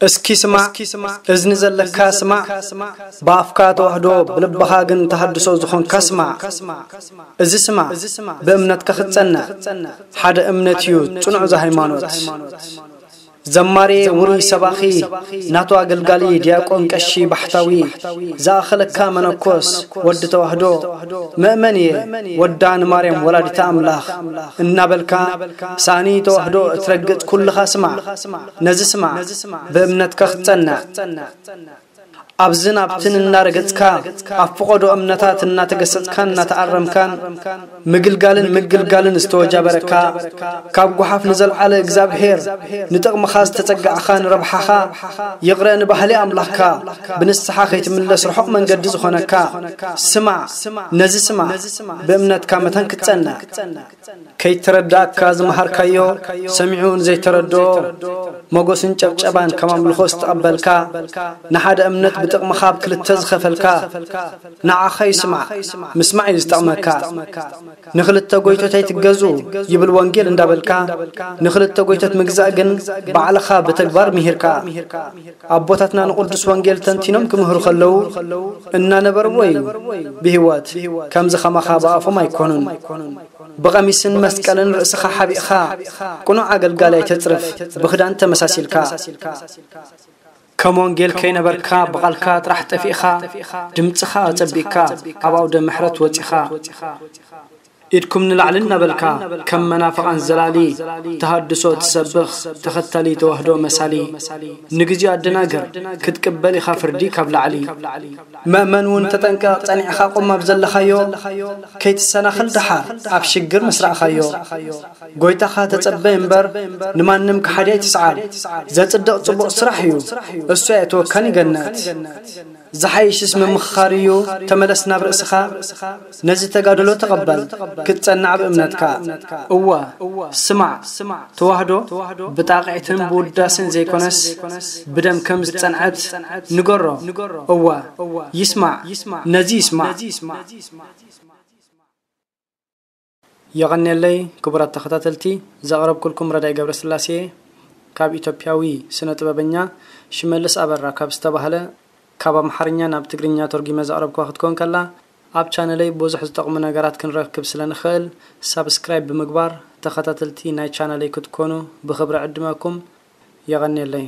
እስኪ ስማዕ፣ እዝኒ ዘለካ ስማዕ፣ ብኣፍካ ተዋህዶ ብልብኻ ግን ተሃድሶ ዝኾንካ ስማዕ። እዚ ስማዕ፣ ብእምነትካ ክትጸንዕ፣ ሓደ እምነት እዩ ጽኑዕ እዚ ሃይማኖት። ዘማሪ፣ ውሩይ ሰባኺ፣ ናቱ ኣገልጋሊ፣ ዲያቆን፣ ቀሺ፣ ባሕታዊ፣ ዝኣኸለካ መነኮስ፣ ወዲ ተዋህዶ፣ መእመን እየ፣ ወዳ ንማርያም ወላዲተ ኣምላኽ እናበልካ ሳእኒ ተዋህዶ እትረግጽ ኩልኻ ስማዕ። ነዚ ስማዕ፣ ብእምነትካ ክትጸንዕ። ኣብዝን ኣብትን እናረገጽካ፣ ኣብ ፈቐዶ እምነታት እናተገሰጽካን እናተኣረምካን፣ ምግልጋልን ምግልጋልን ዝተወጃበረካ፣ ካብ ጓሓፍ ንዘልዓለ እግዚኣብሔር ንጥቕምኻ ዝተጸጋዕኻ፣ ንረብሓኻ ይቕረ ንባህሊ ኣምላኽካ ብንስሓ ከይትምለስ ርሑቕ መንገዲ ዝኾነካ፣ ስማዕ፣ ነዚ ስማዕ፣ ብእምነትካ መታን ክትጸንዕ። ከይተረዳእካ ዝመሃርካዮ ሰሚዑ ንዘይተረድኦ፣ መጎስን ጨብጨባን ከም ኣምልኾ ዝተቐበልካ፣ ንሓደ እምነት ብጥቕምኻ ኣብ ክልተ ዝኸፈልካ፣ ንዓኻ ይስማዕ፣ ምስማዕ እዩ ዝጠቕመካ። ንኽልተ ጎይቶት ኣይትገዙ ይብል ወንጌል እንዳበልካ፣ ንኽልተ ጎይቶት ምግዛእ ግን ባዕልኻ ብተግባር ምሂርካ። ኣቦታትና ንቕዱስ ወንጌል ተንቲኖም ክምህሩ ከለዉ እናነበርዎ እዩ። ብህይወት ከምዚ ኸማኻ ብኣፎም ኣይኮኑን። ብቐሚስን መስቀልን ርእስኻ ሓቢእኻ፣ ቅኑዕ ኣገልጋሊ ኣይተጽርፍ፣ ብኽዳን ተመሳሲልካ። ከም ወንጌል ከይነበርካ፣ ብቓልካ ጥራሕ ጠፊእኻ፣ ድምጽኻ ኣጸቢቕካ፣ ኣብ ኣውደ ምሕረት ወጺኻ። ኢድኩም ንላዕሊ እናበልካ፣ ከም መናፍቓን ዘላሊ፣ ተሃድሶ ትሰብኽ፣ ተኸታሊ ተዋህዶ መሳሊ። ንግዜኡ ኣደናግር፣ ክትቅበል ኢኻ ፍርዲ ካብ ላዕሊ። መእመን እውን ተጠንቀቕ፣ ጸኒዕኻ ቁም ኣብ ዘለኻዮ፣ ከይትሰናኸል ደሓር ኣብ ሽግር ምስ ረኣኻዮ። ጎይታኻ ተጸበ እምበር፣ ንማንም ከሓዲ ኣይትስዓር። ዘጽድቕ ጽቡቕ ስራሕ እዩ፣ እሱ ኣየእትወካን ይገነት። ዝሓይሽስ ምምኽኻር እዩ፣ ተመለስ ናብ ርእስኻ። ነዚ ተጋድሎ ተቐበል፣ ክትጸንዕ ብእምነትካ። እወ፣ ስማዕ፣ ተዋህዶ ብጣቕዒትን ብውዳሴን ዘይኮነስ፣ ብደም ከም ዝጸንዐት ንገሮ። እወ፣ ይስማዕ፣ ነዚ ይስማዕ። የቐንየለይ ክቡራት ተኸታተልቲ፣ ዘቕረብኩልኩም ረዳይ ገብረስላሴ ካብ ኢትዮጵያዊ ስነ ጥበበኛ ሽመልስ ኣበራ ካብ ዝተባህለ፣ ካብ ኣምሓርኛ ናብ ትግርኛ ተርጒመ ዘቕረብኩዋ ክትኮን ከላ፣ ኣብ ቻነለይ ብዙሕ ዝጠቕሙ ነገራት ክንረክብ ስለ ንኽእል፣ ሳብስክራይብ ብምግባር ተኸታተልቲ ናይ ቻነለይ ክትኮኑ ብኽብሪ ዕድመኩም። የቐንየለይ።